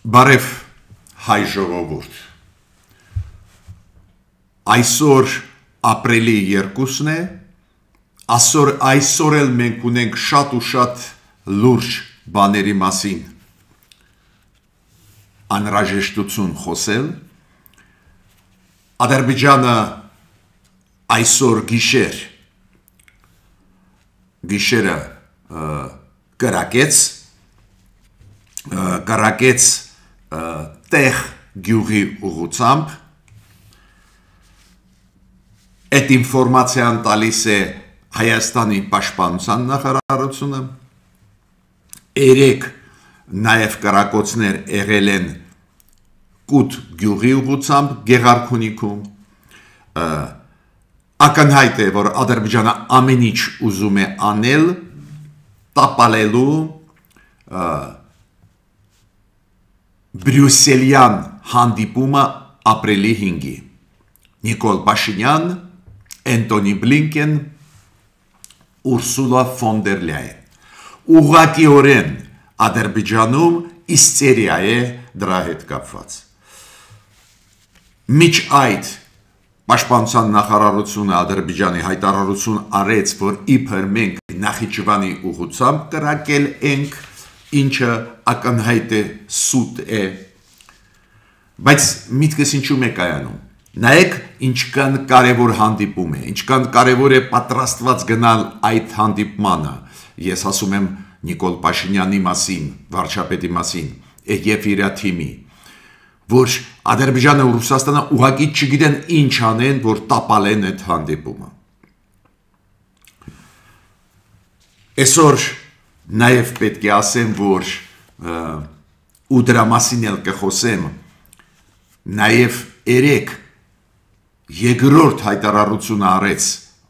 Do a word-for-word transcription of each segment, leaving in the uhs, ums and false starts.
Բարև հայ ժողովուրդ, այսօր ապրիլի երկուսն է, այսօր, այսօր էլ մենք ունենք շատ ու շատ լուրջ բաների մասին անհրաժեշտություն խոսել, Ադրբեջանը այսօր գիշեր, գիշերը կրակեց, կրակեց տեղ գյուղի ուղղությամբ, այդ ինֆորմացիան տալիս է Հայաստանի պաշտպանության նախարարությունը, երեք նաև կրակոցներ եղել են Կուտ գյուղի ուղղությամբ Գեղարքունիքում, ակնհայտ է, որ Ադրբեջանը ամեն ինչ ուզում է անել, տապալելու Բրյուսելյան հանդիպումը ապրիլի հինգի, Նիկոլ Փաշինյան, Անտոնի Բլինկեն, Ուրսուլա ֆոն դեր Լյաեն, ուղղակիորեն Ադրբեջանում իստերիա է դրա հետ կապված։ Միջ այդ Պաշտպանության նախարարությունը Ադրբեջանի հայտարարություն արեց, որ իբր մենք Նախիջևանի ուղղությամբ կրակել ենք, ինչը ակնհայտ է սուտ է, բայց միտքս ինչու է կայանում։ Նայեք ինչքան կարևոր հանդիպում է, ինչքան կարևոր է պատրաստված գնալ այդ հանդիպմանը, ես ասում եմ Նիկոլ Փաշինյանի մասին, վարչապետի մասին, եւ իր թիմի, որ Ադրբեջանը ու Ռուսաստանը ուղղակի չգիտեն ինչ անեն, որ տապալեն այդ հանդիպումը։ Այսօր նաև պետք է ասեմ, որ ու դրա մասին էլ կխոսեմ, նաև երեք երկրորդ հայտարարությունը արեց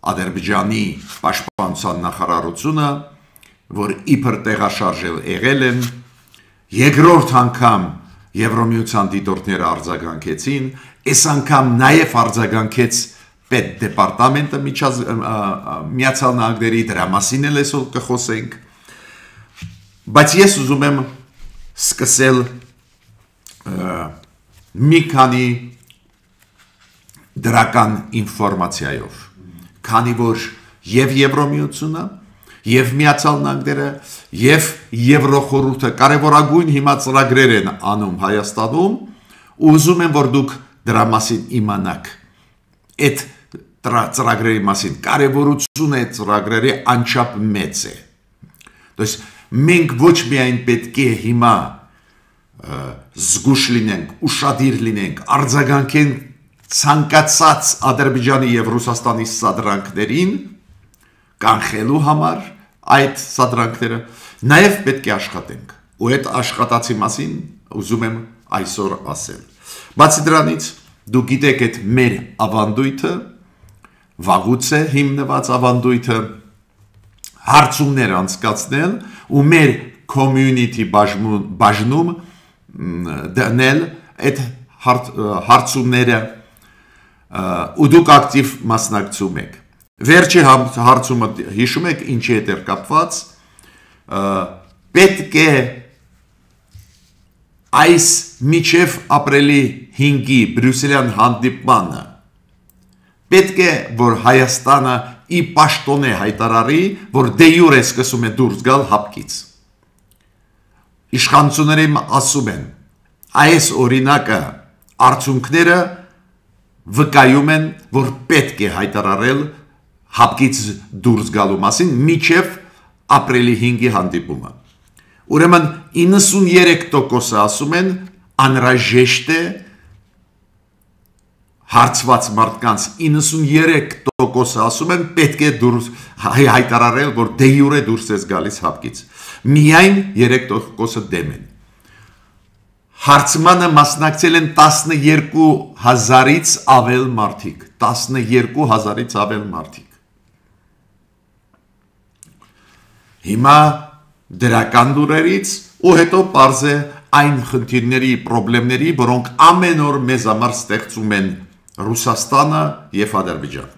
Ադրբեջանի պաշտպանության նախարարությունը, որ իբր տեղաշարժել եղել են, երկրորդ անգամ Եվրոմիության դիտորդները արձագանքեցին, այս անգամ նաև արձագանքեց պետդեպարտամենտը Միացյալ Նահանգների, դրա մասին էլ այսօր կխոսենք, բայց ես ուզում եմ սկսել մի քանի դրական ինֆորմացիայով, քանի որ եւ Եվրոմիությունը, եւ Միացյալ Նահանգները, եւ Եվրոխորհուրդը կարևորագույն հիմա ծրագրեր են անում Հայաստանում, ու ուզում եմ, որ դուք դրա մասին իմանաք, այդ ծրագրերի մասին, կարևորությունը այդ ծրագրերի անչափ մեծ է։ Դες մենք ոչ միայն պետք է հիմա զգուշ լինենք, ուշադիր լինենք, արձագանքենք ցանկացած Ադրբեջանի եւ Ռուսաստանի սադրանքներին, կանխելու համար այդ սադրանքները, նաև պետք է աշխատենք, ու այդ աշխատացի մասին ուզում եմ այսօր ասել։ Բացի դրանից, դու գիտեք այդ մեր ավանդույթը, վաղուց է հիմնված ավանդույթը, հարցումներ անցկացնել ու մեր community բաժնում դնել այդ հարցումները ու դուք ակտիվ մասնակցում եք։ Վերջի հարցումը հիշում եք ինչի հետ էր կապված, պետք է այս մինչև ապրիլի հինգի Բրյուսելյան հանդիպմանը, պետք է, որ Հայաստանը ի պաշտոնե հայտարարի, որ դե յուրե սկսում է դուրս գալ հապկից։ Իշխանությունները ասում են, այս օրինակը արդյունքները վկայում են, որ պետք է հայտարարել հապկից դուրս գալու մասին մինչև ապրիլի հինգի հանդիպումը։ Ուրեմն իննսուններեք տոկոսը ասում են անհրաժեշտ է հարցված մարդկանց իննսուններեք տոկոսը ասում են պետք է դուրս հայտարարել, որ դե յուրե դուրս ես գալիս հապկից։ Միայն երեք տոկոսը դեմ են։ Հարցմանը մասնակցել են տասնյոթ հազարից ավել մարդիկ, տասնյոթ հազարից ավել մարդիկ։ Հիմա դրական լուրերից ու հետո պարզ է այն խնդիրների, պրոբլեմների, որոնք ամեն օր մեզ համար ստեղծում են Ռուսաստանը եւ Ադրբեջանը։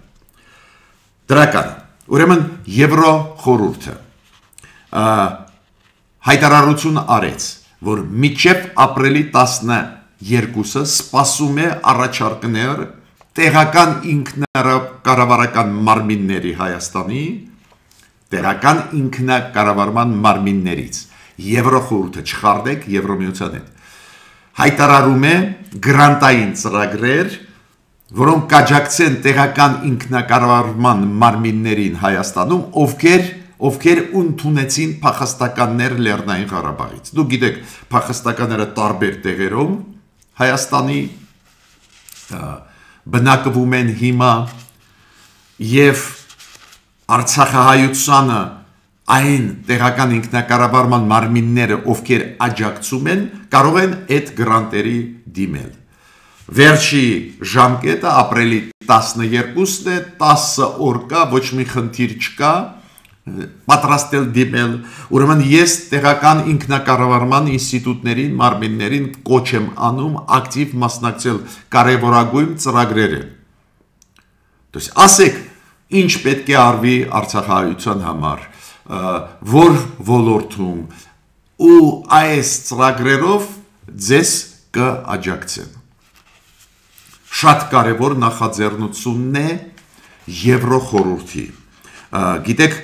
Դրական, ուրեմն Եվրոխորհուրդը հայտարարություն արեց, որ մինչև ապրիլի տասներկուսը սպասում է առաջարկներ տեղական ինքնակառավարական մարմինների Հայաստանի, տեղական ինքնակառավարման մարմիններից, Եվրոխորհուրդը չխարդեք Եվրոմիության հետ, հայտարարում է գրանտային ծրագրեր, որոնք կաջակցեն տեղական ինքնակառավարման մարմիններին Հայաստանում, ովքեր ովքեր ընդունեցին փախստականներ Լեռնային Ղարաբաղից։ Դուք գիտեք, փախստականները տարբեր տեղերում Հայաստանի բնակվում են հիմա եւ Արցախահայությանը այն տեղական ինքնակառավարման մարմինները, ովքեր աջակցում են, կարող են այդ գրանտերի դիմել։ Վերջի ժամկետը ապրիլի տասներկուսն է, տասը օր կա, ոչ մի խնդիր չկա, պատրաստել դիմել, ուրեմն ես տեղական ինքնակառավարման ինստիտուտներին, մարմիններին կոչ եմ անում ակտիվ մասնակցել կարևորագույն ծրագրերը։ Ասեք, ինչ պետք է արվի Արցախահայության համար, որ ոլորտում ու այս ծրագրերով ձեզ կաջակցեն։ Շատ կարևոր նախաձեռնությունն է Եվրոխորհրդի։ Գիտեք,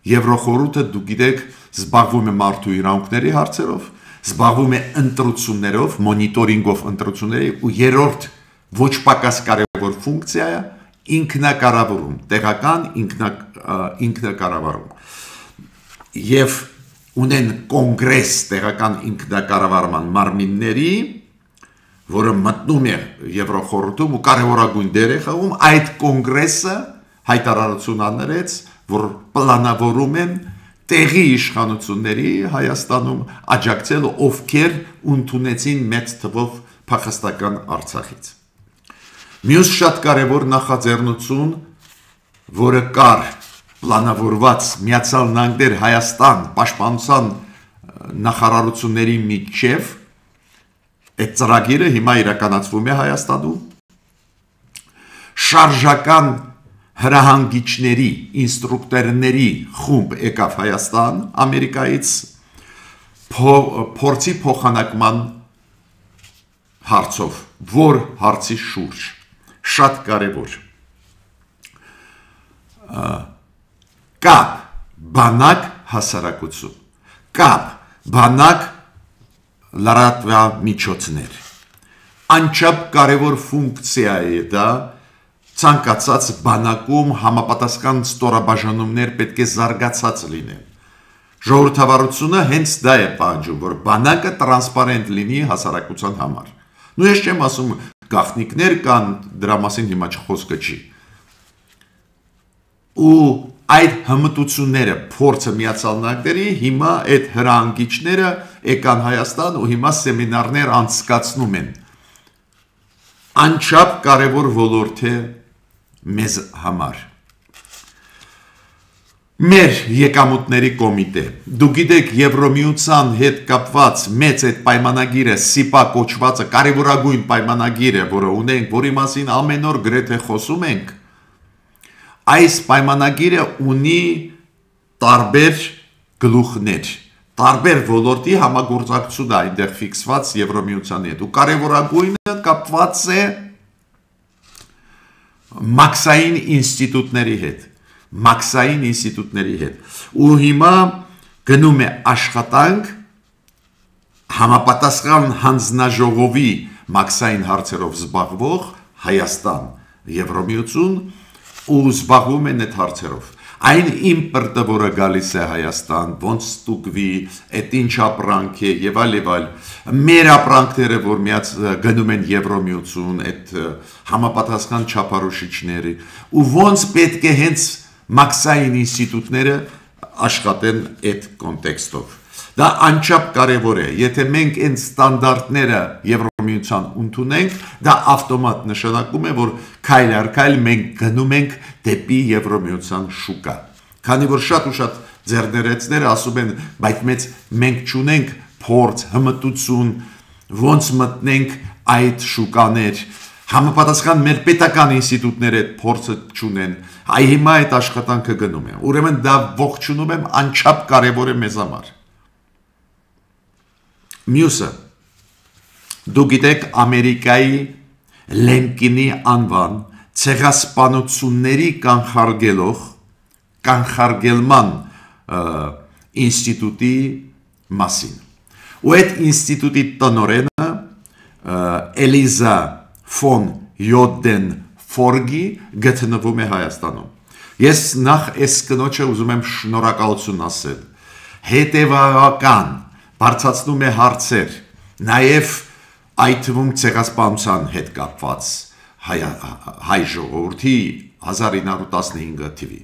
Եվրոխորհուրդը, դուք գիտեք, զբաղվում է մարդու իրավունքների հարցերով, զբաղվում է ընտրություններով, մոնիտորինգով ընտրությունների ու երրորդ ոչ պակաս կարևոր ֆունկցիա է ինքնակառավարում, տեղական ինքնակառավարում։ Եվ ունեն կոնգրես տեղական ինքնակառավարման մարմինների, որը մտնում է Եվրոխորհրդում ու կարևորագույն դեր է խաղում, այդ կոնգրեսը հայտարարություն աներեց, որ պլանավորում են տեղի իշխանությունների Հայաստանում աջակցել, ովքեր ընդունեցին մեծ թվով փախստական Արցախից։ Մյուս շատ կարևոր նախաձեռնություն, որը կար պլանավորված Միացյալ Նահանգներ Հայաստան պաշտպանության նախարարությունների միջև, այդ ծրագիրը հիմա իրականացվում է Հայաստանում, շարժական հրահանգիչների, ինստրուկտորների խումբ եկավ Հայաստան, Ամերիկայից, փորձի փոխանակման հարցով, որ հարցի շուրջ, շատ կարևոր, կապ, բանակ հասարակություն, կապ, բանակ լրատվամիջոցներ, անչափ կարևոր ֆունկցիա է դա, ցանկացած բանակում համապատասխան ստորաբաժանումներ պետք է զարգացած լինեն։ Ժողովրդավարությունը հենց դա է պահանջում, որ բանակը տրանսպարենտ լինի հասարակության համար։ Նու ես չեմ ասում գաղտնիքներ կան, դրա մասին հիմա խոսքը չի։ Ու այդ հմտությունները, փորձը Միացյալ Նահանգների, հիմա այդ հրահանգիչները եկան Հայաստան ու հիմա սեմինարներ անցկացնում են։ Անչափ կարևոր ոլորտ է մեզ համար։ Մեր եկամուտների կոմիտե, դուք գիտեք Եվրոմիության հետ կապված մեծ այդ պայմանագիրը, սիպա կոչվածը, կարևորագույն պայմանագիրը, որը ունենք, որի մասին ամեն օր գրեթե խոսում ենք, այս պայմանագիրը ունի տարբեր գլուխներ, տարբեր ոլորտի համագործակցություն այնտեղ ֆիքսված Եվրոմիության հետ, ու կարևորագույնը կապված է մաքսային ինստիտուտների հետ, մաքսային ինստիտուտների հետ, ու հիմա գնում է աշխատանք համապատասխան հանձնաժողովի մաքսային հարցերով զբաղվող Հայաստան, Եվրոմիություն ու զբաղվում են այդ հարցերով։ Այն իմպորտը, որը գալիս է Հայաստան, ոնց ստուգվի, այդ ինչ ապրանք է եւ այլ եւ այլ, մեր ապրանքները, որ միած գնում են Եվրոմիություն, այդ համապատասխան չափորոշիչների, ու ոնց պետք է հենց մաքսային ինստիտուտները աշխատեն այդ կոնտեքստով։ Դա անչափ կարևոր է, եթե մենք այն ստանդարտները Եվրոմիության ընդունենք, դա ավտոմատ նշանակում է, որ քայլ առ քայլ մենք գնում ենք դեպի Եվրոմիության շուկա։ Քանի որ շատ ու շատ ձեռներեցները ասում են, բայց մեծ մենք չունենք փորձ, հմտություն, ոնց մտնենք այդ շուկաներ, համապատասխան մեր պետական ինստիտուտները այդ փորձը չունեն, այ հիմա այդ աշխատանքը գնում է։ Ուրեմն դա ողջունում եմ, անչափ կարևոր է մեզ համար։ Մյուսը դուք գիտեք Ամերիկայի Լեմկինի անվան ցեղասպանությունների կանխարգելող կանխարգելման ինստիտուտի մասին։ Ու այդ ինստիտուտի տնօրենը Էլիզա ֆոն Յոդեն Ֆորգի գտնվում է Հայաստանում։ Ես նախ այս կնոջը ուզում եմ շնորհակալություն ասել։ Հետևական բարձրացնում է հարցեր, նաև այդ թվում ցեղասպանության հետ կապված հայ ժողովրդի հազար ինը հարյուր տասնհինգ թվի։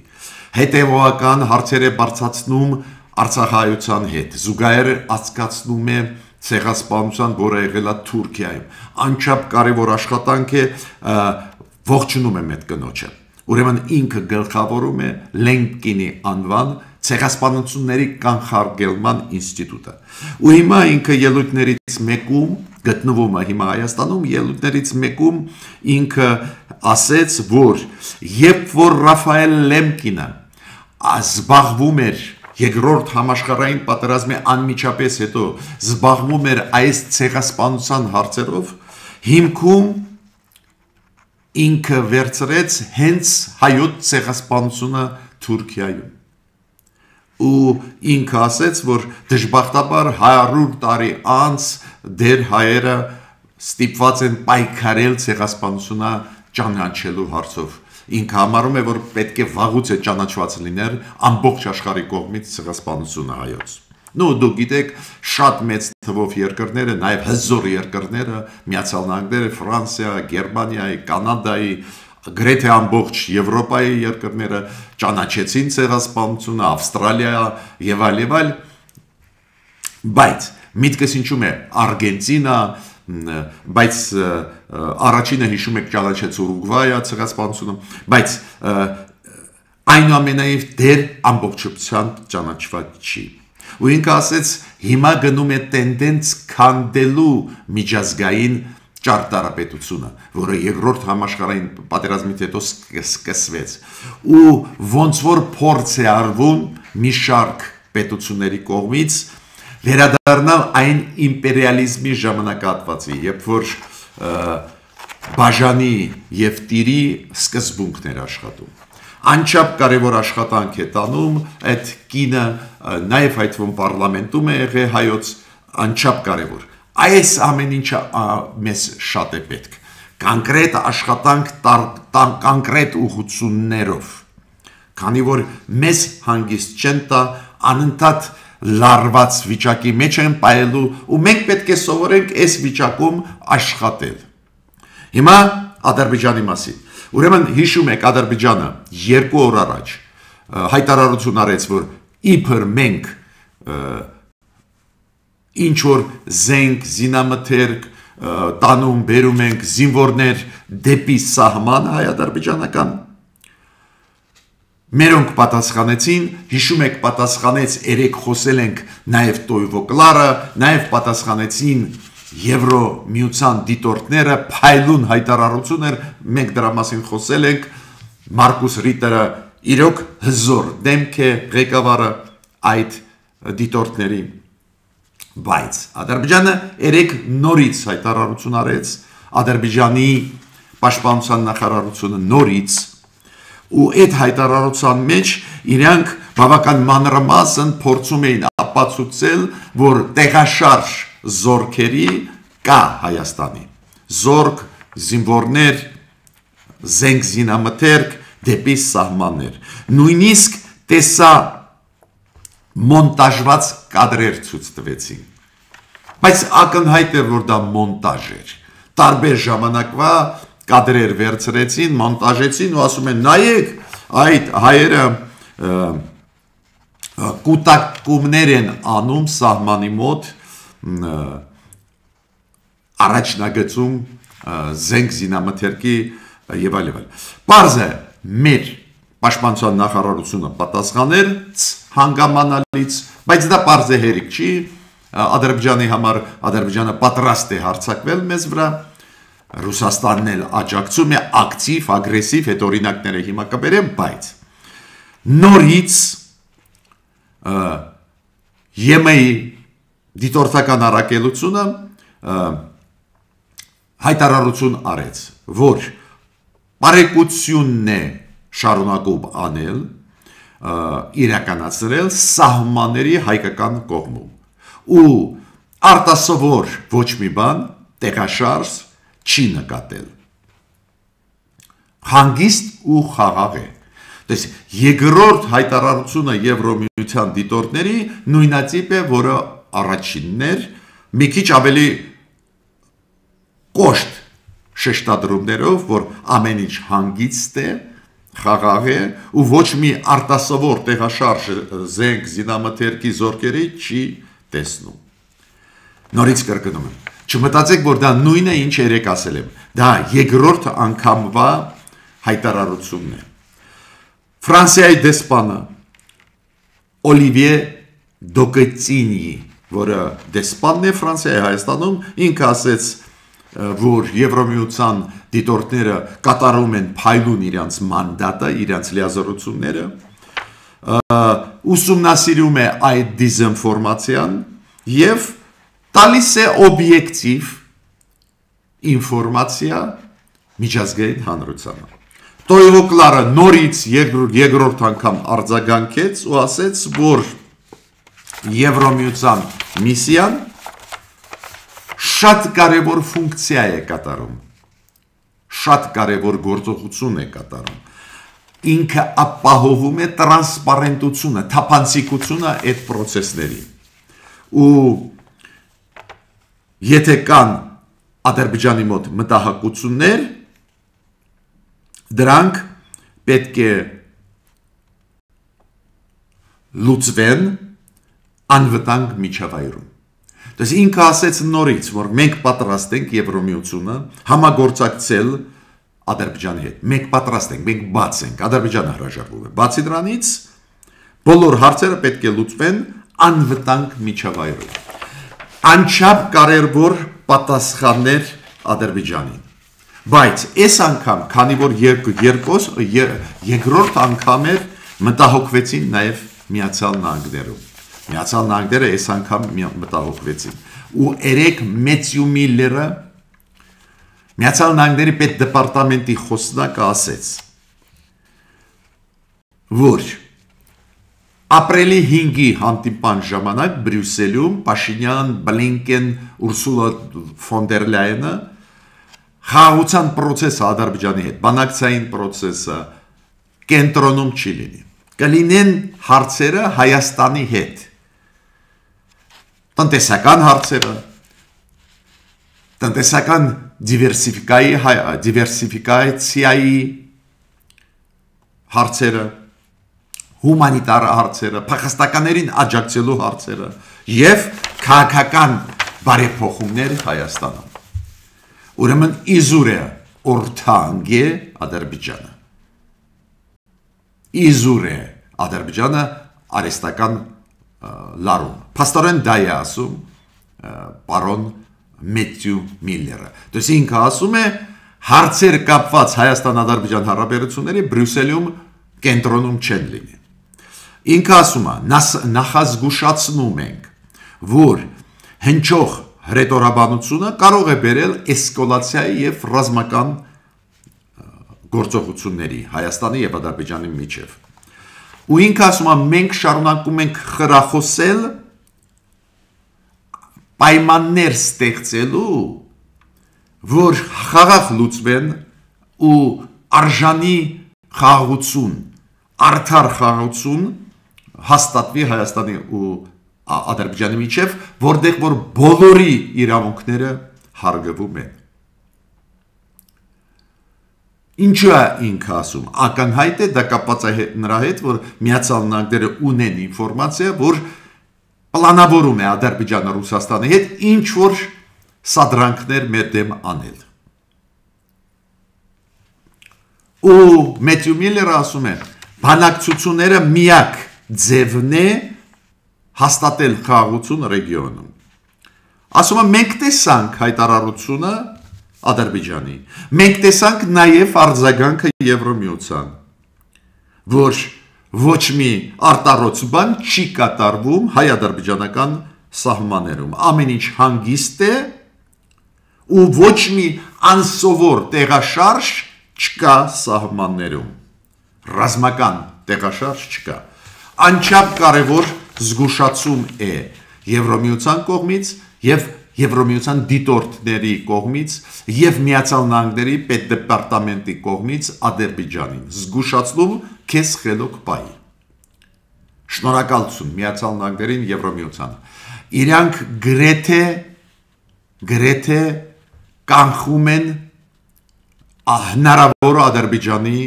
Հետևական հարցեր է բարձրացնում Արցախայության հետ, զուգահեռ ասկացնում է ցեղասպանության, որը եղել է Թուրքիայում։ Անչափ կարևոր աշխատանք է, ողջունում եմ այդ կնոջը։ Ուրեմն ինքը գլխավորում է Լեմկինի անվան ցեղասպանությունների կանխարգելման ինստիտուտը։ Ու հիմա ինքը ելույթներից մեկում գտնվում է հիմա Հայաստանում, ելույթներից մեկում ինքը ասեց, որ երբ որ Ռաֆայել Լեմկինը զբաղվում էր երկրորդ համաշխարհային պատերազմի անմիջապես հետո զբաղվում էր այս ցեղասպանության հարցերով, հիմքում ինքը վերցրեց հենց հայոց ցեղասպանությունը Թուրքիայում։ Ու ինքը ասեց, որ դժբախտաբար հարյուր տարի անց դեր հայերը ստիպված են պայքարել ցեղասպանությունը ճանաչելու հարցով։ Ինքը համարում է, որ պետք է վաղուց է ճանաչված լիներ ամբողջ աշխարհի կողմից ցեղասպանությունը հայոց։ Նու դուք գիտեք, շատ մեծ թվով երկրները, նաև հզոր երկրները, Միացյալ Նահանգները, Ֆրանսիա, Գերմանիայի, Կանադայի, գրեթե ամբողջ Եվրոպայի երկրները ճանաչեցին ցեղասպանությունը, Ավստրալիա եւ այլ եւ այլ, բայց միտքս ինչու՞մ է Արգենտինա, բայց առաջինը հիշում եք ճանաչեց Ուրուգվայը ցեղասպանությունը, բայց այնուամենայնիվ դեր ամբողջությամբ ճանաչված չի։ Ու ինքը ասեց, հիմա գնում է տենդենց քանդելու միջազգային ճարտարապետությունը, որը երկրորդ համաշխարհային պատերազմից հետո սկսվեց։ Ու ոնց որ փորձ է արվում մի շարք պետությունների կողմից վերադառնալ այն իմպերիալիզմի ժամանակահատվածի, երբ որ բաժանի եւ տիրի սկզբունքն էր աշխատում։ Անչափ կարևոր աշխատանք է տանում այդ կինը, նաև այդ վում պարլամենտում է եղել հայոց, անչափ կարևոր։ Այս ամեն ինչը մեզ շատ է պետք։ Կոնկրետ աշխատանք կոնկրետ ուղղություններով։ Քանի որ մեզ հանգիստ չեն տա անընդհատ լարված վիճակի մեջ են պայելու ու մենք պետք է սովորենք այս վիճակում աշխատել։ Հիմա Ադրբեջանի մասին։ Ուրեմն հիշում եք Ադրբեջանը երկու օր առաջ հայտարարություն արեց, որ իբր մենք ինչ որ զենք, զինամթերք տանում, բերում ենք զինվորներ դեպի սահման հայ-ադրբեջանական։ Մերոնք պատասխանեցին, հիշում եք պատասխանեց, երեք խոսել ենք նաև Տոյվոկլարը, նաև պատասխանեցին Եվրո միության դիտորդները, փայլուն հայտարարություն էր, մենք դրա մասին խոսել ենք, Մարկուս Ռիտերը իրոք հզոր դեմք է ղեկավարը այդ դիտորդների, բայց Ադրբեջանը երեք նորից հայտարարություն արեց, Ադրբեջանի պաշտպանության նախարարությունը նորից, ու այդ հայտարարության մեջ իրանք բավական մանրամասն փորձում էին ապացուցել, որ տեղաշարժ զորքերի կա Հայաստանի, զորք, զինվորներ, զենք զինամթերք դեպի սահմաններ, նույնիսկ տեսա մոնտաժված կադրեր ցույց տվեցին, բայց ակնհայտ է, որ դա մոնտաժ էր, տարբեր ժամանակվա կադրեր վերցրեցին, մոնտաժեցին ու ասում են, նայեք, այդ հայերը կուտակումներ են անում սահմանի մոտ, առաջնագծում զենք զինամթերքի եւ այլ եւ այլ։ Պարզ է, մեր պաշտպանության նախարարությունը պատասխաներ հանգամանալից, բայց դա պարզ է հերիք չի, Ադրբեջանի համար Ադրբեջանը պատրաստ է հարձակվել մեզ վրա, Ռուսաստանն էլ աջակցում է ակտիվ, ագրեսիվ, հետ օրինակները հիմա կբերեմ, բայց նորից ԵՄ-ի դիտորդական առաքելությունը հայտարարություն արեց, որ բարեկությունն է շարունակում անել, իրականացրել սահմանների հայկական կողմում ու արտասովոր ոչ մի բան տեղաշարժ չի նկատել։ Հանգիստ ու խաղաղ է։ Դες երկրորդ հայտարարությունը Եվրոմիության դիտորդների նույնատիպ է, որը առաջիններ մի քիչ ավելի կոշտ շեշտադրումներով, որ ամեն ինչ հանգիստ է, խաղաղ է ու ոչ մի արտասովոր տեղաշարժ զենք զինամթերքի զորքերի չի տեսնում։ Նորից կրկնում եմ, չմտածեք, որ դա նույնն է, ինչ երեք ասել եմ, դա երկրորդ անգամվա հայտարարությունն է։ Ֆրանսիայի դեսպանը Օլիվիե Դոկետինի, որը դեսպանն է Ֆրանսիայի Հայաստանում, ինքը ասեց, որ Եվրոմիության դիտորդները կատարում են փայլուն իրենց մանդատը, իրենց լիազորությունները, ուսումնասիրում է այդ դիզինֆորմացիան եւ տալիս է օբյեկտիվ ինֆորմացիա միջազգային հանրությանը։ Տոյո Կլարը նորից երկրորդ անգամ արձագանքեց ու ասեց, որ Եվրոմիության միսիան շատ կարևոր ֆունկցիա է կատարում, շատ կարևոր գործողություն է կատարում, ինքը ապահովում է տրանսպարենտությունը, թափանցիկությունը այդ պրոցեսների, ու եթե կան Ադրբեջանի մոտ մտահոգություններ, դրանք պետք է լուծվեն անվտանգ միջավայրում։ Դες ինքը ասեց նորից, որ մենք պատրաստ ենք Եվրոմիությունը համագործակցել Ադրբեջանի հետ։ Մենք պատրաստ ենք, մենք բաց ենք, Ադրբեջանը հրաժարվում է։ Բացի դրանից, բոլոր հարցերը պետք է լուծվեն անվտանգ միջավայրում։ Անչափ կարևոր պատասխաններ Ադրբեջանին։ Բայց այս անգամ, քանի որ երկրորդ երկրորդ անգամ էր մտահոգվեցին նաև Միացյալ Նահանգներում։ Միացյալ Նահանգները այս անգամ մտահոգվեցին։ Ու երեք Մեթյու Միլլերը Միացյալ Նահանգների պետդեպարտամենտի խոսնակը ասեց, որ ապրիլի հինգի հանդիպան ժամանակ Բրյուսելում Փաշինյան, Բլինկեն, Ուրսուլա ֆոն դեր Լայենը խաղաղության պրոցեսը Ադրբեջանի հետ, բանակցային պրոցեսը կենտրոնում չի լինի։ Կլինեն հարցերը Հայաստանի հետ։ Տնտեսական հարցերը, տնտեսական դիվերսիֆիկացիայի հարցերը, հումանիտար հարցերը, փախստականներին աջակցելու հարցերը եւ քաղաքական բարեփոխումներ Հայաստանում։ Ուրեմն իզուր է օրթանգ է Ադրբեջանը։ Իզուր է Ադրբեջանը արեստական լարում։ Փաստորեն դա է ասում պարոն Մեթյու Միլլերը։ Դες ինքը ասում է հարցեր կապված Հայաստան-Ադրբեջան հարաբերությունների Բրյուսելում կենտրոնում չեն լինի։ Ինքը ասում է, նախազգուշացնում ենք, որ հնչող հրետորաբանությունը կարող է բերել էսկալացիայի եւ ռազմական գործողությունների Հայաստանի եւ Ադրբեջանի միջեւ։ Ու ինքը ասում է, մենք շարունակում ենք խրախոսել պայմաններ ստեղծելու, որ խաղաղ լուծվեն ու արժանի խաղաղություն, արդար խաղաղություն հաստատվի Հայաստանի ու Ադրբեջանի միջև, որտեղ որ բոլորի իրավունքները հարգվում են։ Ինչու է ինքը ասում, ակնհայտ է, դա կապված է նրա հետ, որ Միացյալ Նահանգները ունեն ինֆորմացիա, որ պլանավորում է Ադրբեջանը Ռուսաստանի հետ ինչ որ սադրանքներ մեր դեմ անել։ Ու Մեթյու Միլլերը ասում է, բանակցությունները միակ ձևն է հաստատել խաղաղություն ռեգիոնում։ Ասում է, մենք տեսանք հայտարարությունը Ադրբեջանի, մենք տեսանք նաև արձագանքը Եվրոմիության, որ ոչ մի արտառոց բան չի կատարվում հայ-ադրբեջանական սահմաններում ամեն ինչ հանգիստ է ու ոչ մի անսովոր տեղաշարժ չկա սահմաններում, ռազմական տեղաշարժ չկա, անչափ կարևոր զգուշացում է Եվրամիության կողմից և Եվրամիության դիտորդների կողմից և Միացյալ Նահանգների պետդեպարտամենտի կողմից Ադրբեջանին, զգուշացնում քեզ խելոք պահի։ Շնորհակալություն Միացյալ Նահանգներին, Եվրամիությանը։ Իրանք գրեթե գրեթե կանխում են հնարավոր Ադրբեջանի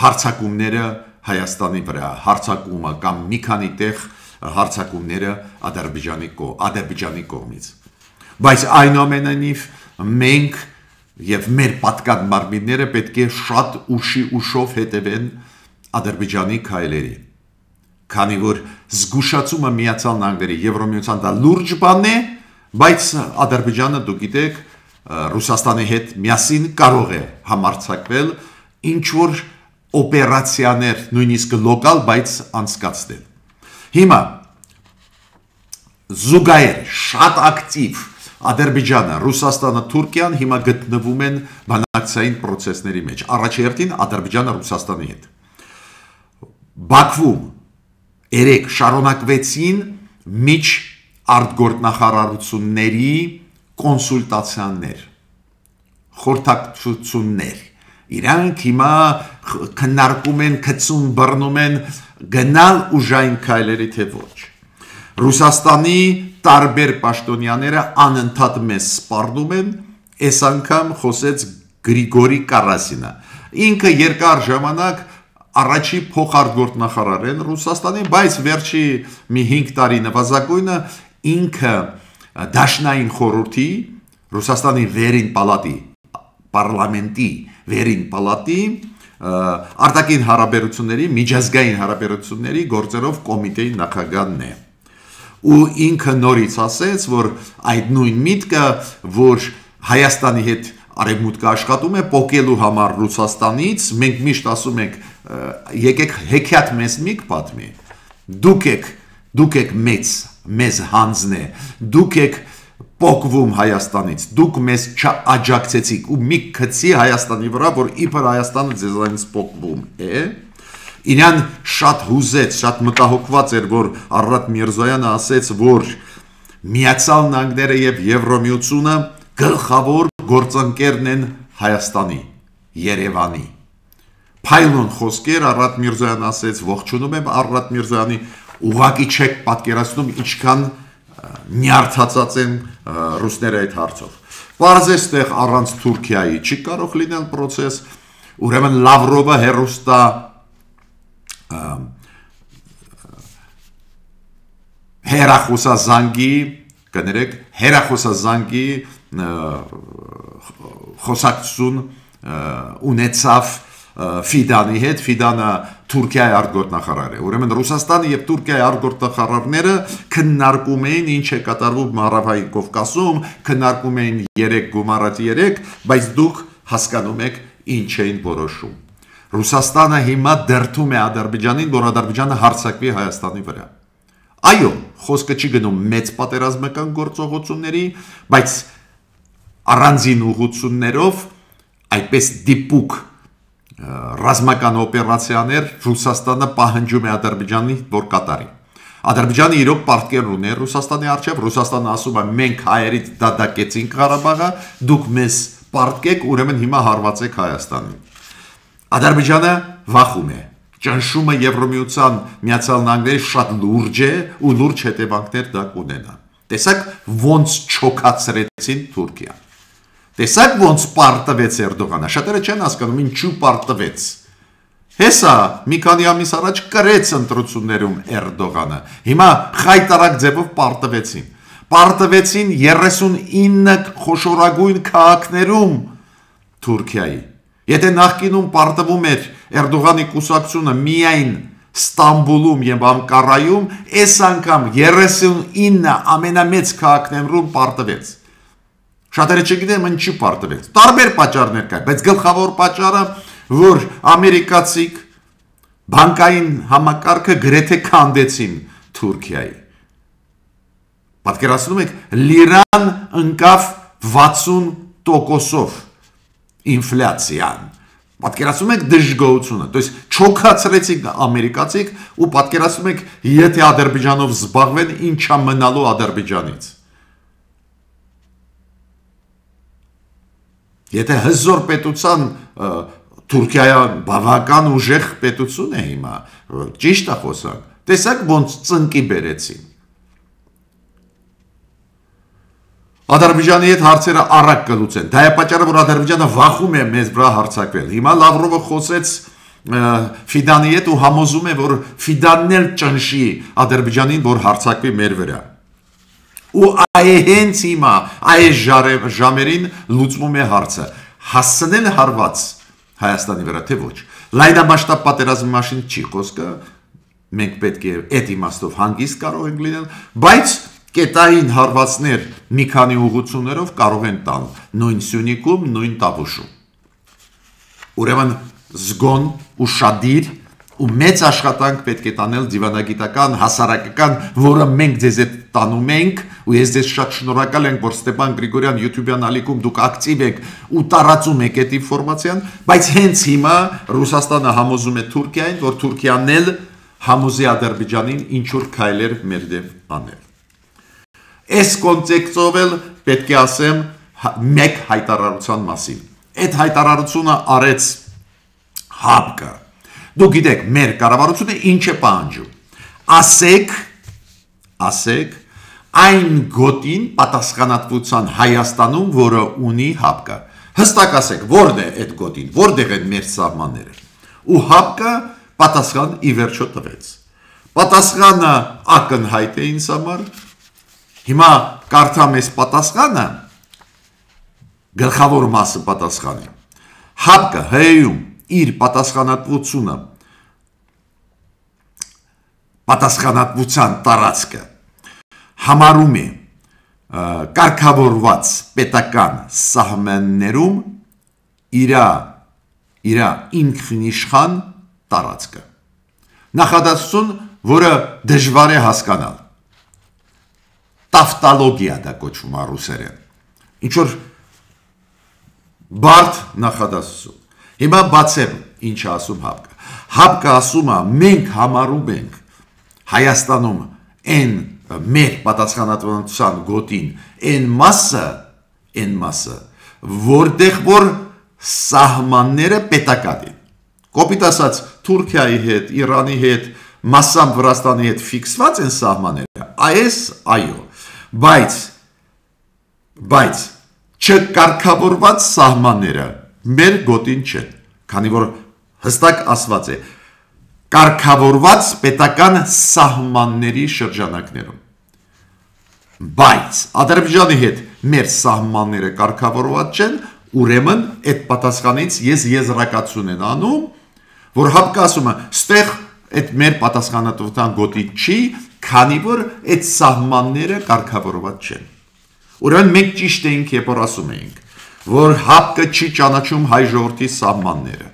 հարձակումները Հայաստանի վրա, հարձակումը կամ մի քանի տեղ հարձակումները Ադրբեջանի Ադրբեջանի կողմից։ Բայց այնուամենայնիվ մենք եւ մեր պատկան մարմինները պետք է շատ ուշի ուշով հետևեն Ադրբեջանի քայլերի, քանի որ զգուշացումը Միացյալ Նահանգների Եվրամիության դա լուրջ բան է, բայց Ադրբեջանը դուք գիտեք Ռուսաստանի հետ միասին կարող է համարձակվել ինչ որ օպերացիաներ, նույնիսկ լոկալ, բայց անցկացնել։ Հիմա զուգահեռ շատ ակտիվ Ադրբեջանը, Ռուսաստանը, Թուրքիան հիմա գտնվում են բանակցային process-ների մեջ։ Առաջերտին Ադրբեջանը Ռուսաստանի հետ։ Բաքվում երեք շարունակվեցին միջ արտգործնախարարությունների կոնսուլտացիաներ, խորհրդակցություններ։ Իրանք հիմա քննարկում են, գցում, բռնում են գնալ ուժային քայլերի թե ոչ։ Ռուսաստանի տարբեր պաշտոնյաները անընդհատ մեզ սպառնում են, այս անգամ խոսեց Գրիգորի Կարասինը։ Ինքը երկար ժամանակ առաջի փոխարտգործնախարար են Ռուսաստանի, բայց վերջի մի հինգ տարի նվազագույնը ինքը դաշնային խորհրդի Ռուսաստանի վերին պալատի, պարլամենտի վերին պալատի արտաքին հարաբերությունների, միջազգային հարաբերությունների գործերով կոմիտեի նախագահն է։ Ու ինքը նորից ասեց, որ այդ նույն միտքը, որ Հայաստանի հետ արևմուտքը աշխատում է պոկելու համար Ռուսաստանից, մենք միշտ ասում ենք, եկեք հեքիաթ մեզ միք պատմի, դուք եք, դուք եք մեծ, մեզ հանձն է, դուք եք պոկվում Հայաստանից, դուք մեզ չաջակցեցիք ու մի քցի Հայաստանի վրա, որ իբր Հայաստանը ձեզանից պոկվում է, իրան շատ հուզեց, շատ մտահոգված էր, որ Արարատ Միրզոյանը ասեց, որ Միացյալ Նահանգները և Եվրամիությունը գլխավոր գործընկերն են Հայաստանի, Երևանի։ Փայլուն խոսքեր Արարատ Միրզոյանը ասեց, ողջունում եմ Արարատ Միրզոյանի, ուղղակի չեք պատկերացնում ինչքան նյարդացած են ռուսները այդ հարցով։ Պարզես տեղ առանց Թուրքիայի չի կարող լինել process, ուրեմն Լավրովը հերոստա հերախոսազանգի, կներեք, հերախոսազանգի խոսակցություն ունեցավ Ֆիդանի հետ, Ֆիդանը Թուրքիայի արտգործնախարար է։ Ուրեմն Ռուսաստանը եւ Թուրքիայի արտգործնախարարները քննարկում էին ինչ է կատարվում Հարավային Կովկասում, քննարկում էին երեք գումարած երեք, բայց դուք հասկանում եք ինչ էին որոշում։ Ռուսաստանը հիմա դրդում է Ադրբեջանին, որ Ադրբեջանը հարձակվի Հայաստանի վրա։ Այո, խոսքը չի գնում մեծ պատերազմական գործողությունների, բայց առանձին ուղղություններով այդպես դիպուկ ռազմական օպերացիաներ Ռուսաստանը պահանջում է Ադրբեջանի, որ կատարի։ Ադրբեջանը իրոք պարտքեր ունի Ռուսաստանի առջև, Ռուսաստանը ասում է մենք հայերից դատակեցինք Ղարաբաղը, դուք մեզ պարտքեք, ուրեմն հիմա հարվածեք Հայաստանին։ Ադրբեջանը վախում է, ճնշումը Եվրամիության Միացյալ Նահանգների շատ լուրջ է ու լուրջ հետևանքներ դա կունենա։ Տեսակ ոնց չոքացրեցին Թուրքիան։ Տեսակ ոնց պարտվեց Էրդողանը, շատերը չեն հասկանում ինչու պարտվեց։ Հեսա մի քանի ամիս առաջ կրեց ընտրություններում Էրդողանը, հիմա խայտարակ ձևով պարտվեցին։ Պարտվեցին երեսունինը խոշորագույն քաղաքներում Թուրքիայի։ Եթե նախկինում պարտվում էր Էրդողանի կուսակցությունը միայն Ստամբուլում եւ Անկարայում, այս անգամ երեսունինը ամենամեծ քաղաքներում պարտվեց։ Շատերը չգիտեն ինչի պարտվեց։ Տարբեր պատճառներ կա, բայց գլխավոր պատճառը, որ ամերիկացիք բանկային համակարգը գրեթե քանդեցին Թուրքիայի։ Պատկերացնում եք, լիրան ընկավ վաթսուն տոկոսով ինֆլյացիան։ Պատկերացնում եք դժգոհությունը, то есть չոքացրեցիք ամերիկացիք ու պատկերացնում եք, եթե Ադրբեջանով զբաղվեն, ինչա մնալու Ադրբեջանից։ Եթե հզոր պետության Թուրքիան բավական ուժեղ պետություն է հիմա, ճիշտ է խոսանք, տեսակ ոնց ծնկի բերեցին։ Ադրբեջանի հետ հարցերը առակ կլուծեն, դա է պատճառը, որ Ադրբեջանը վախում է մեզ վրա հարձակվել։ Հիմա Լավրովը խոսեց Ֆիդանի հետ ու համոզում է, որ Ֆիդանն էլ ճնշի Ադրբեջանին, որ հարձակվի մեր վրա։ Ու այ հենց հիմա այս ժամերին լուծվում է հարցը, հասցնել հարված Հայաստանի վրա, թե ոչ։ Լայնամասշտաբ պատերազմի մասին չի խոսքը, մենք պետք է այդ իմաստով հանգիստ կարող ենք լինել, բայց կետային հարվածներ մի քանի ուղղություններով կարող են տալ, նույն Սյունիքում, նույն Տավուշում։ Ուրեմն զգոն ու շադիր ու մեծ աշխատանք պետք է տանել դիվանագիտական, հասարակական, որը մենք ձեզ հետ տանում ենք, ու ես ձեզ շատ շնորհակալ ենք, որ Ստեփան Գրիգորյան YouTube-յան ալիքում դուք ակտիվ եք ու տարածում եք այդ ինֆորմացիան, բայց հենց հիմա Ռուսաստանը համոզում է Թուրքիային, որ Թուրքիան էլ համոզի Ադրբեջանին ինչ-որ քայլեր մեր դեմ անել։ Այս կոնտեքստով էլ պետք է ասեմ մեկ հայտարարության մասին։ Այդ հայտարարությունը արեց ՀԱՊԿ-ը։ Դուք գիտեք, մեր կառավարությունը ինչ է պահանջում։ Ասեք, ասեք, այն գոտին պատասխանատվության Հայաստանում, որը ունի ՀԱՊԿ-ը։ Հստակ ասեք, որն է այդ գոտին, որտեղ են մեր սահմանները։ Ու ՀԱՊԿ-ը պատասխան ի վերջո տվեց։ Պատասխանը ակնհայտ է ինձ համար։ Հիմա կարդամ այս պատասխանը, գլխավոր մասը պատասխանի։ ՀԱՊԿ-ը ՀՀ-ում իր պատասխանատվությունը պատասխանատվության տարածքը համարում է կարգավորված պետական սահմաններում իրա իրա ինքնիշխան տարածքը։ Նախադասություն, որը դժվար է հասկանալ։ Տավտոլոգիա դա կոչվում է ռուսերեն։ Ինչ որ բարդ նախադասություն։ Հիմա բացեմ ինչ ասում ՀԱՊԿ-ը։ ՀԱՊԿ-ը ասում է, մենք համարում ենք Հայաստանում այն մեր պատասխանատվության գոտին այն մասը, այն մասը, որտեղ որ սահմանները պետական են։ Կոպիտ ասած, Թուրքիայի հետ, Իրանի հետ, մասամբ Վրաստանի հետ ֆիքսված են սահմանները։ Այս այո, բայց բայց չկարգավորված սահմանները մեր գոտին չեն, քանի որ հստակ ասված է կարգավորված պետական սահմանների շրջանակներում։ Բայց Ադրբեջանի հետ մեր սահմանները կարգավորված չեն, ուրեմն այդ պատասխանից ես եզրակացություն եմ անում, որ ՀԱՊԿ-ը ասում է, ստեղ այդ մեր պատասխանատվության գոտի չի, քանի որ այդ սահմանները կարգավորված չեն։ Ուրեմն մենք ճիշտ էինք, երբ որ ասում էինք, որ ՀԱՊԿ-ը չի ճանաչում հայ ժողովրդի սահմանները։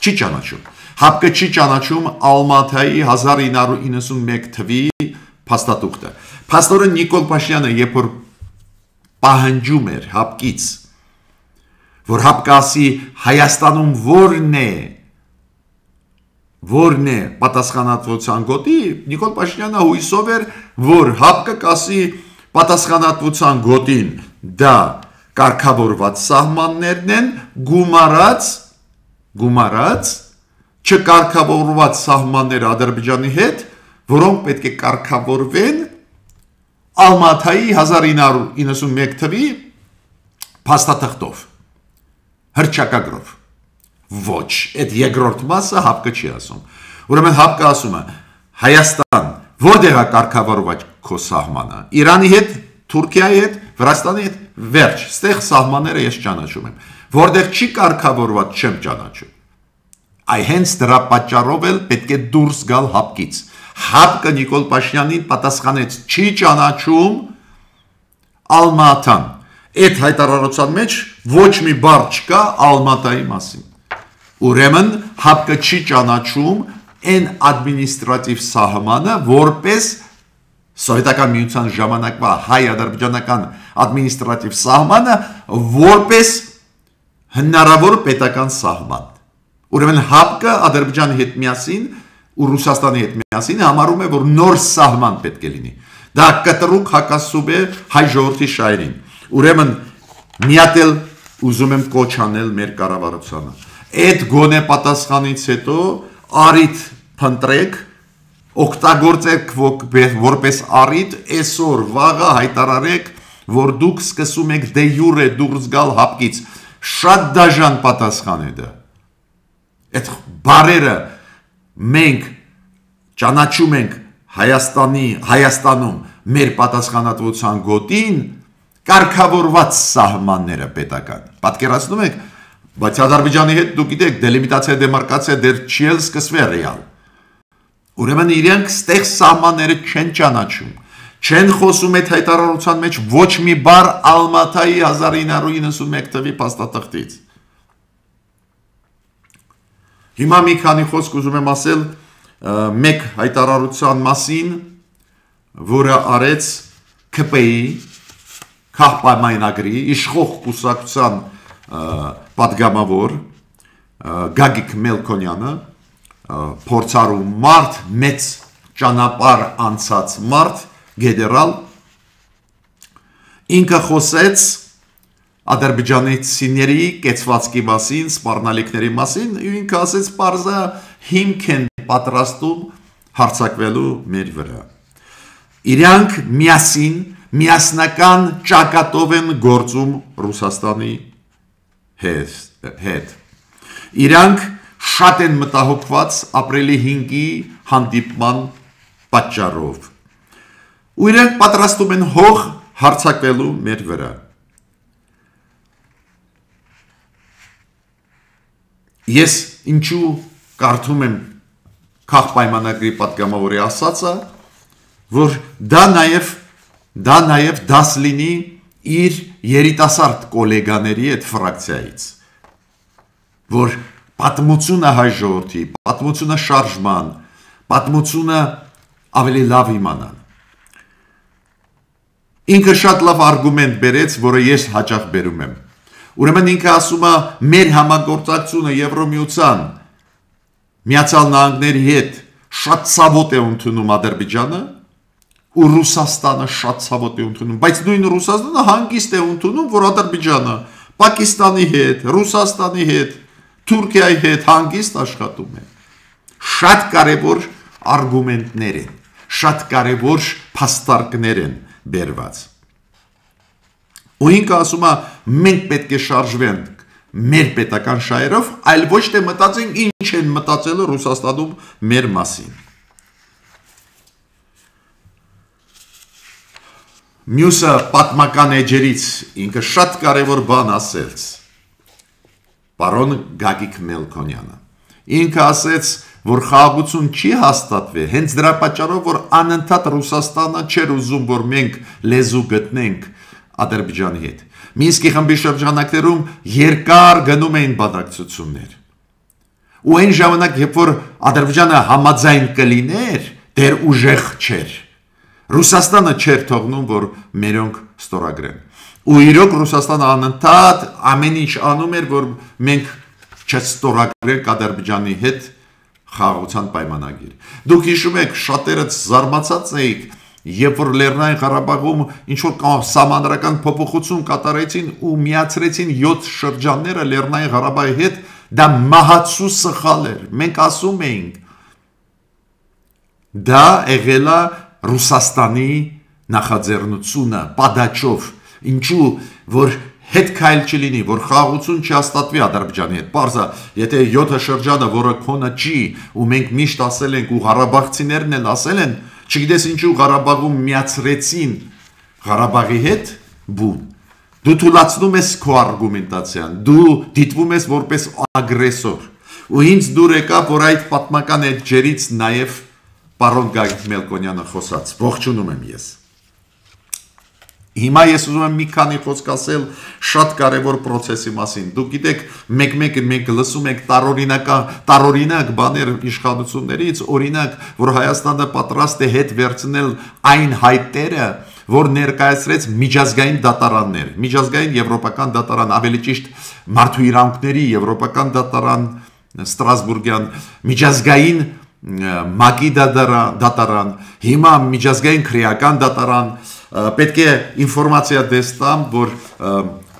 Չի ճանաչում։ ՀԱՊԿ-ը չի ճանաչում Ալմաթայի հազար ինը հարյուր իննսունմեկ թվի փաստաթուղթը։ Փաստորեն Նիկոլ Փաշինյանը, երբ որ պահանջում էր ՀԱՊԿ-ից, որ ՀԱՊԿ-ը ասի Հայաստանում որն է, որն է պատասխանատվության գոտի, Նիկոլ Փաշինյանը հույսով էր, որ ՀԱՊԿ-ը կասի պատասխանատվության գոտին դա կարգավորված սահմաններն են, գումարած, գումարած չկարգավորված սահմանները Ադրբեջանի հետ, որոնք պետք է կարգավորվեն Ալմաթայի հազար ինը հարյուր իննսունմեկ թվի փաստաթղթով, հռչակագրով։ Ոչ, այդ երկրորդ մասը ՀԱՊԿ-ը չի ասում։ Ուրեմն ՀԱՊԿ-ը ասում է, Հայաստան, որտեղ է կարգավորված քո սահմանը, Իրանի հետ, Թուրքիայի հետ, Վրաստանի հետ, վերջ, ստեղ սահմանները ես ճանաչում եմ, որտեղ չի կարգավորված չեմ ճանաչում։ Այ հենց դրա պատճառով էլ պետք է դուրս գալ ՀԱՊԿ-ից։ ՀԱՊԿ-ը Նիկոլ Փաշինյանին պատասխանեց, չի ճանաչում Ալմաթան։ Այդ հայտարարության մեջ ոչ մի բառ չկա Ալմատայի մասին։ Ուրեմն ՀԱՊԿ-ը չի ճանաչում այն ադմինիստրատիվ սահմանը, որպես Սովետական միության ժամանակվա հայ-ադրբեջանական ադմինիստրատիվ սահմանը որպես հնարավոր պետական սահման։ Ուրեմն ՀԱՊԿ-ը Ադրբեջանի հետ միասին ու Ռուսաստանի հետ միասին համարում է, որ նոր սահման պետք է լինի։ Դա կտրուկ հակասում է հայ ժողովրդի շահերին։ Ուրեմն միատել ուզում եմ կոչ անել մեր կառավարությանը։ Այդ գոնե պատասխանից հետո առիթ փնտրեք, օգտագործեք որպես առիթ, այսօր վաղը հայտարարեք, որ դուք սկսում եք դե յուրե դուրս գալ ՀԱՊԿ-ից։ Շատ դաժան պատասխան է դա։ Այդ բարերը մենք ճանաչում ենք Հայաստանի, Հայաստանում մեր պատասխանատվության գոտին կարգավորված սահմանները պետական։ Պատկերացնում եք, բայց Ադրբեջանի հետ դուք գիտեք, դելիմիտացիա, դեմարկացիա դեռ չի էլ սկսվել ռեալ։ Ուրեմն իրենք ստեղ սահմանները չեն ճանաչում, չեն խոսում այդ հայտարարության մեջ ոչ մի բառ Ալմաթայի հազար ինը հարյուր իննսունմեկ թվականի փաստաթղթից։ Հիմա մի քանի խոսք ուզում եմ ասել մեկ հայտարարության մասին, որը արեց ՔՊ-ի քաղաքապայմանագրի իշխող կուսակցության պատգամավոր Գագիկ Մելքոնյանը, փորձառու մարդ, մեծ ճանապարհ անցած մարդ, գեներալ, ինքը խոսեց ադրբեջանցիների կեցվածքի մասին, սպառնալիքների մասին, ինքը ասեց պարզա հիմք են պատրաստում հարձակվելու մեր վրա։ Իրանք միասին, միասնական ճակատով են գործում Ռուսաստանի հետ։ Իրանք շատ են մտահոգված ապրիլի հինգի հանդիպման պատճառով։ Ու իրանք պատրաստում են հող հարձակվելու մեր վրա։ Ես ինչու կարդում եմ քաղաքապայմանագրի պատգամավորի ասածը, որ դա նաև դա նաև դաս լինի իր երիտասարդ կոլեգաների այդ ֆրակցիայից, որ պատմությունը հայ ժողովրդի, պատմությունը շարժման, պատմությունը ավելի լավ իմանան։ Ինքը շատ լավ արգումենտ բերեց, որը ես հաճախ բերում եմ։ Ուրեմն ինքը ասում է, մեր համագործակցությունը Եվրոմիության Միացյալ Նահանգների հետ շատ ցավոտ է ընդունում Ադրբեջանը, ու Ռուսաստանը շատ ցավոտ է ընդունում, բայց նույն Ռուսաստանը հանգիստ է ընդունում, որ Ադրբեջանը Պակիստանի հետ, Ռուսաստանի հետ, Թուրքիայի հետ հանգիստ աշխատում է։ Շատ կարևոր արգումենտներ են, շատ կարևոր փաստարկներ են բերված։ Ու ինքը ասում է, մենք պետք է շարժվենք մեր պետական շահերով, այլ ոչ թե մտածենք ինչ են մտածել Ռուսաստանում մեր մասին։ Մյուսը պատմական էջերից ինքը շատ կարևոր բան ասեց, պարոն Գագիկ Մելքոնյանը։ Ինքը ասեց, որ խաղաղություն չի հաստատվի, հենց դրա պատճառով, որ անընդհատ Ռուսաստանը չէր ուզում, որ մենք լեզու գտնենք Ադրբեջանի հետ։ Մինսկի խմբի շրջանակներում երկար գնում էին բանակցություններ։ Ու այն ժամանակ, երբ որ Ադրբեջանը համաձայն կլիներ, դեռ ուժեղ չէր։ Ռուսաստանը չէր թողնում, որ մերոնք ստորագրեն։ Ու իրոք Ռուսաստանը անընդհատ ամեն ինչ անում էր, որ մենք չստորագրենք Ադրբեջանի հետ խաղաղության պայմանագիր։ Դուք հիշում եք, շատերդ զարմացած էիք, երբ որ Լեռնային Ղարաբաղում ինչ-որ սահմանադրական փոփոխություն կատարեցին ու միացրեցին յոթ շրջանները Լեռնային Ղարաբաղի հետ, դա մահացու սխալ էր։ Մենք ասում էինք, դա եղել է Ռուսաստանի նախաձեռնությունը, պատաճով, ինչու, որ հետ քայլ չլինի, որ խաղաղություն չհաստատվի Ադրբեջանի հետ։ Պարզա, եթե յոթ շրջանը, որը քոնը չի, ու մենք միշտ ասել ենք, ու ղարաբաղցիներն էլ ասել են, չգիտես ինչու Ղարաբաղում միացրեցին Ղարաբաղի հետ բուն։ Դու թույլատնում ես քո արգումենտացիան, դու դիտվում ես որպես ագրեսոր։ Ու ինձ դուր եկավ, որ այդ պատմական էջերից նաև պարոն Գագիկ Մելքոնյանը խոսաց։ Ողջունում եմ ես։ Հիմա ես ուզում եմ մի քանի խոսք ասել շատ կարևոր process-ի մասին։ Դուք գիտեք, մեկ-մեկ մենք լսում ենք տարօրինական, տարօրինակ բաներ իշխանություններից, օրինակ, որ Հայաստանը պատրաստ է հետ վերցնել այն հայտերը, որ ներկայացրեց միջազգային դատարաններ, միջազգային եվրոպական դատարան, ավելի ճիշտ մարդու իրավունքների եվրոպական դատարան, Ստրասբուրգյան, միջազգային ՄԱԿ-ի դատարան, հիմա միջազգային քրեական դատարան, պետք է ինֆորմացիա դեստամ, որ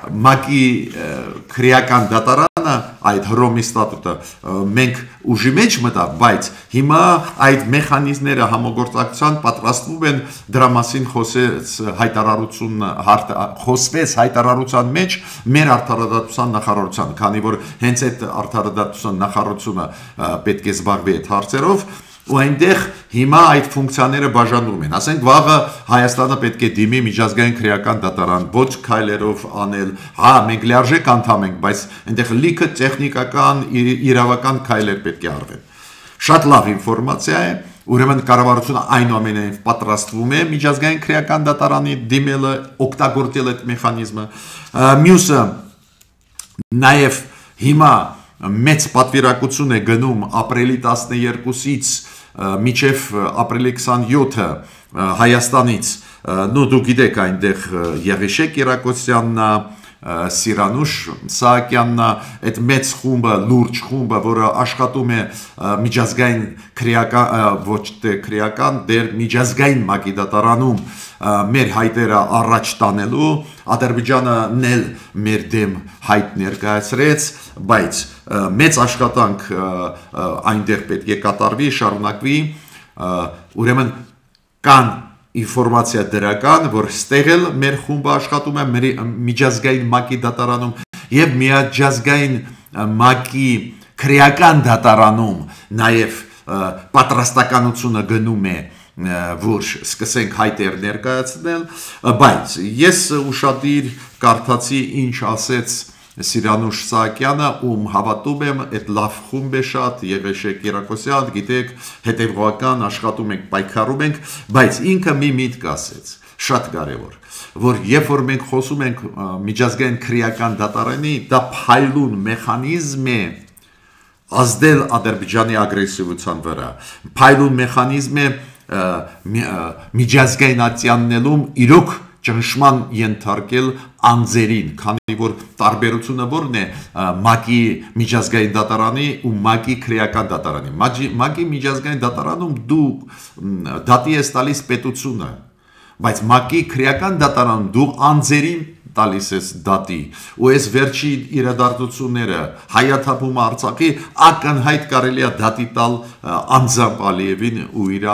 ՄԱԿ-ի քրեական դատարանը, այդ Հռոմի ստատուտը մենք ուժի մեջ մտավ, բայց հիմա այդ մեխանիզմները համագործակցության պատրաստվում են դրա մասին խոսեց հայտարարություն խոսվեց հայտարարության մեջ մեր արդարադատության նախարարության, քանի որ հենց այդ արդարադատության նախարարությունը պետք է զբաղվի այդ հարցերով ու այնտեղ հիմա այդ ֆունկցիաները բաժանվում են, ասենք վաղը Հայաստանը պետք է դիմի միջազգային քրեական դատարան, ոչ քայլերով անել, հա մենք լիարժեք անդամ ենք, բայց այնտեղ լիքը տեխնիկական, իրավական քայլեր պետք է արվեն։ Շատ լավ ինֆորմացիա է, ուրեմն կառավարությունը այնուամենայնիվ պատրաստվում է միջազգային քրեական դատարանի դիմելը, օգտագործել այդ մեխանիզմը։ Մյուսը նաև հիմա մեծ պատվիրակություն է գնում ապրիլի տասներկուսից մինչև ապրիլի քսանյոթը Հայաստանից, նու դու գիտեք այնտեղ Եղիշե Կիրակոսյանն, Սիրանուշ Սահակյանն, այդ մեծ խումբը, լուրջ խումբը, որը աշխատում է միջազգային քրեական, ոչ թե քրեական, դեր միջազգային ՄԱԿ-ի դատարանում մեր հայտերը առաջ տանելու, Ադրբեջանը նել մեր դեմ հայտ ներկայացրեց, բայց մեծ աշխատանք այնտեղ պետք է կատարվի, շարունակվի, ուրեմն կան ինֆորմացիա դրական, որ ստեղ էլ մեր խումբը աշխատում է միջազգային ՄԱԿ-ի դատարանում եւ միջազգային ՄԱԿ-ի քրեական դատարանում նաեւ պատրաստականությունը գնում է, որ սկսենք հայտեր ներկայացնել, բայց ես ուշադիր կարդացի ինչ ասեց Սիրանուշ Սահակյանը, ում հավատում եմ, այդ լավ խումբ է շատ, Եղիշե Կիրակոսյան, գիտեք, հետևողական աշխատում ենք, պայքարում ենք, բայց ինքը մի միտք ասեց, շատ կարևոր, որ երբ որ մենք խոսում ենք միջազգային քրեական դատարանի, դա փայլուն մեխանիզմ է ազդել Ադրբեջանի ագրեսիվության վրա, փայլուն մեխանիզմ է միջազգայնացնելում իրոք ճնշման ենթարկել անձերին, քանի որ տարբերությունը որն է ՄԱԿ-ի միջազգային դատարանի ու ՄԱԿ-ի քրեական դատարանի։ ՄԱԿ-ի միջազգային դատարանում դու դատի ես տալիս պետությունը, բայց ՄԱԿ-ի քրեական դատարանում դու անձերին տալիս ես դատի, ու այս վերջի իրադարձությունները հայաթափումը Արցախի ակնհայտ կարելի է դատի տալ անձամբ Ալիևին ու իր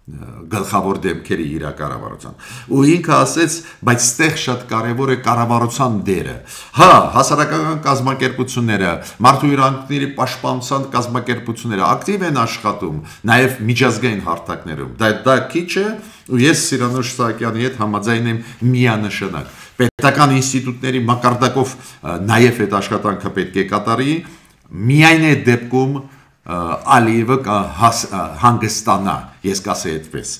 գլխավոր դեմքերի իր կառավարության։ Ու ինքը ասեց, բայց ստեղ շատ կարևոր է կառավարության դերը։ Հա, հասարակական կազմակերպությունները, մարդու իրավունքների պաշտպանության կազմակերպությունները ակտիվ են աշխատում, նաև միջազգային հարթակներում։ Դա դա քիչ է, ու ես Սիրանուշ Սահակյանի հետ համաձայն եմ միանշանակ։ Պետական ինստիտուտների մակարդակով նաև այդ աշխատանքը պետք է կատարի, միայն այդ դեպքում Ալիևը հանգստանա, ես կասեի այդպես։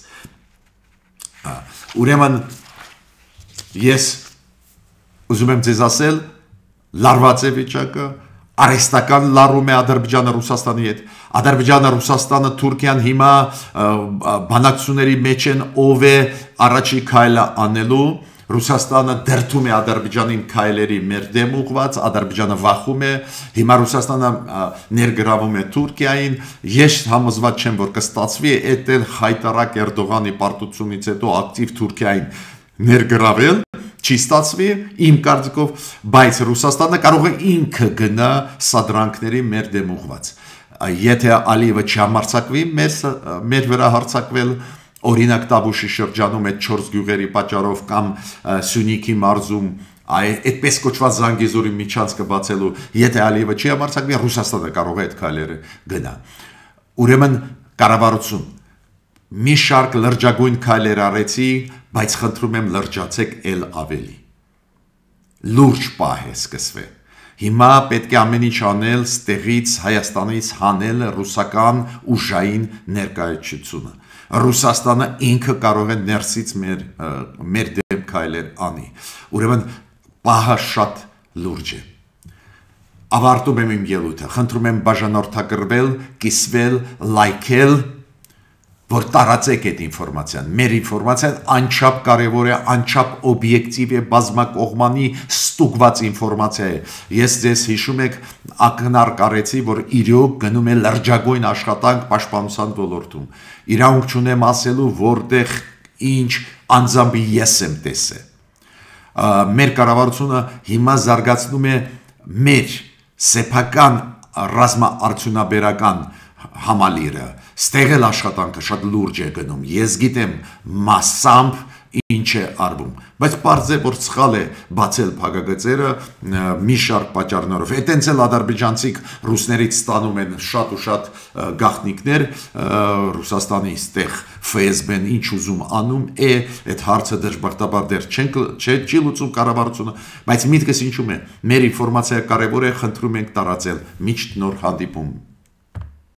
Ուրեմն ես ուզում եմ ձեզ ասել, լարված է վիճակը, արհեստական լարում է Ադրբեջանը Ռուսաստանի հետ, Ադրբեջանը Ռուսաստանը Թուրքիան հիմա բանակցությունների մեջ են, ով է առաջի քայլը անելու, Ռուսաստանը դերթում է Ադրբեջանին քայլերի մեր դեմ ուղված, Ադրբեջանը վախում է, հիմա Ռուսաստանը ներգրավում է Թուրքիային, ես համոզված չեմ, որ կստացվի այդ էլ խայտարակ Էրդողանի պարտությունից հետո ակտիվ Թուրքիային ներգրավել, չի ստացվի իմ կարծիքով, բայց Ռուսաստանը կարող է ինքը գնա սադրանքների մեր դեմ ուղված։ Եթե Ալիևը չհամարձակվի մեր վրա հարձակվել, օրինակ Տավուշի շրջանում այդ չորս գյուղերի պատճառով կամ Սյունիքի մարզում այդպես կոչված Զանգեզուրի միջանցքը բացելու, եթե Ալիևը չի համարձակվի, Ռուսաստանը կարող է այդ քայլերը գնա։ Ուրեմն կառավարություն մի շարք լրջագույն քայլեր արեցի, բայց խնդրում եմ լրջացեք ել ավելի։ Լուրջ պահ է սկսվել։ Հիմա պետք է ամեն ինչ անել ստեղից Հայաստանից հանել ռուսական ուժային ներկայացությունը։ Ռուսաստանը ինքը կարող է ներսից մեր մեր դեմ քայլեր անի։ Ուրեմն պահը շատ լուրջ է։ Ավարտում եմ իմ ելույթը, խնդրում եմ բաժանորդագրվել, կիսվել, լայքել, որ տարածեք այդ ինֆորմացիան։ Մեր ինֆորմացիան անչափ կարևոր է, անչափ օբյեկտիվ է, բազմակողմանի ստուգված ինֆորմացիա է։ Ես ձեզ հիշում եք, ակնարկ կարեցի, որ իրոք գնում է լրջագույն աշխատանք պաշտպանության ոլորտում։ Իրավունք չունեմ ասելու, որտեղ ինչ անձամբ ես եմ տեսել։ Մեր կառավարությունը հիմա զարգացնում է մեր սեփական ռազմաարդյունաբերական համալիրը, ստեղել աշխատանքը շատ լուրջ է գնում, ես գիտեմ մասամբ ինչ է արվում, բայց պարզ է, որ սխալ է բացել փակագծերը մի շարք պատճառներով։ Այդտենց էլ ադրբեջանցիք ռուսներից ստանում են շատ ու շատ գաղտնիքներ, Ռուսաստանի ստեղ F S B-ն ինչ ուզում անում է, այդ հարցը դժբախտաբար դեռ չի լուծում կառավարությունը, բայց միտքս ինչու՞մ է, մեր ինֆորմացիա կարևոր է, խնդրում ենք տարածել, միշտ նոր հանդիպում։